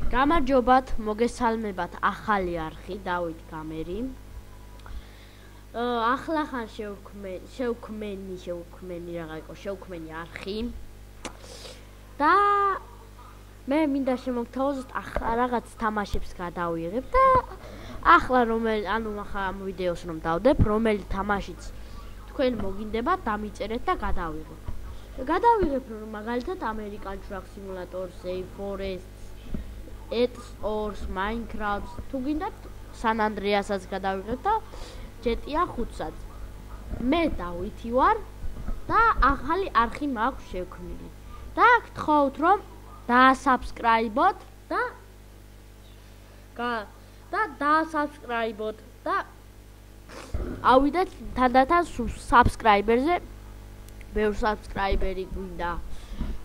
გამარჯობათ, მოგესალმებათ ახალი არხი, დავით გამერი. Ახლახან შევქმენი არხი. და მე მინდა შემოგთავაზოთ რაღაც თამაშებს გადავიღებ და ახლა ამ ვიდეოს რომ დავდებ, რომელი თამაშიც თქვენ მოგინდებათ, დამიწერეთ და გადავიღებ. გადავიღებ რომ მაგალითად American Truck Simulator, Save Forest, Ets, Minecraft, თუ გინდათ San Andreas-აც გადავიღებ და GTA 5-საც. მე დავითი ვარ და ახალი არხი მაქვს შევქმნილი. და გთხოვთ რომ დაასაბსკრაიბოთ და დაასაბსკრაიბოთ და ავიდეთ თანდათან საბსკრაიბერზე ბევრ საბსკრაიბერი გვინდა.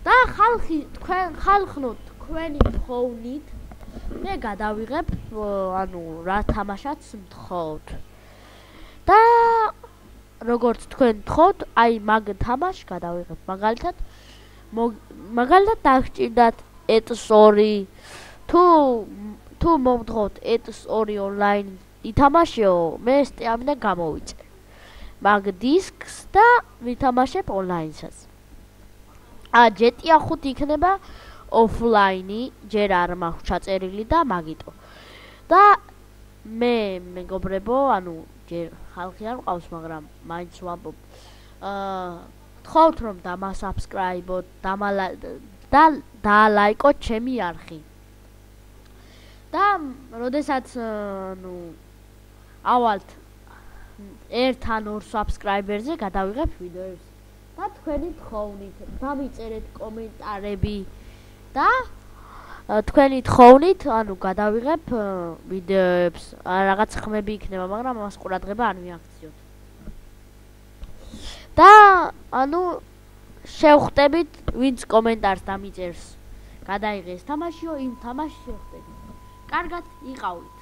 და ხალხნოთ თქვენი თხოვნით მე გადავიღებ რა თამაშაც მთხოვთ. და როგორც თქვენ თხოვთ, აი მაგ თამაშს გადავიღებ. მაგალითად დაგჭირდათ Ets 2 თუ მომთხოვთ Ets 2 online ითამაშეო, მე სტეამიდან გამოვიწე მაგ დისკს და ვითამაშებ online-საც. GTA 5 იქნება offline-ი, ჯერ არ მაქვს ჩაწერილი და მაგიტო. და მე მეგობრებო, ჯერ ხალხი არ მყავს, მაგრამ მაინც ვამბობ. გთხოვთ რომ დამასაბსკრაიბოთ, დაალაიკოთ ჩემი არხი. და როდესაც ავალთ 1 ან 2 საბსკრაიბერზე გადავიღებ ვიდეოებს და თქვენი თხოვნით დამიწერეთ კომენტარები და თქვენი თხოვნით გადავიღებ ვიდეოებს, რაღაც ხმები იქნება, მაგრამ ამას ყურადღება არ მიაქციოთ. და შევხვდებით ვინც კომენტარს დამიწერს გადაიღეს თამაშიო, იმ თამაშს შევხვდებით. კარგად იყავით.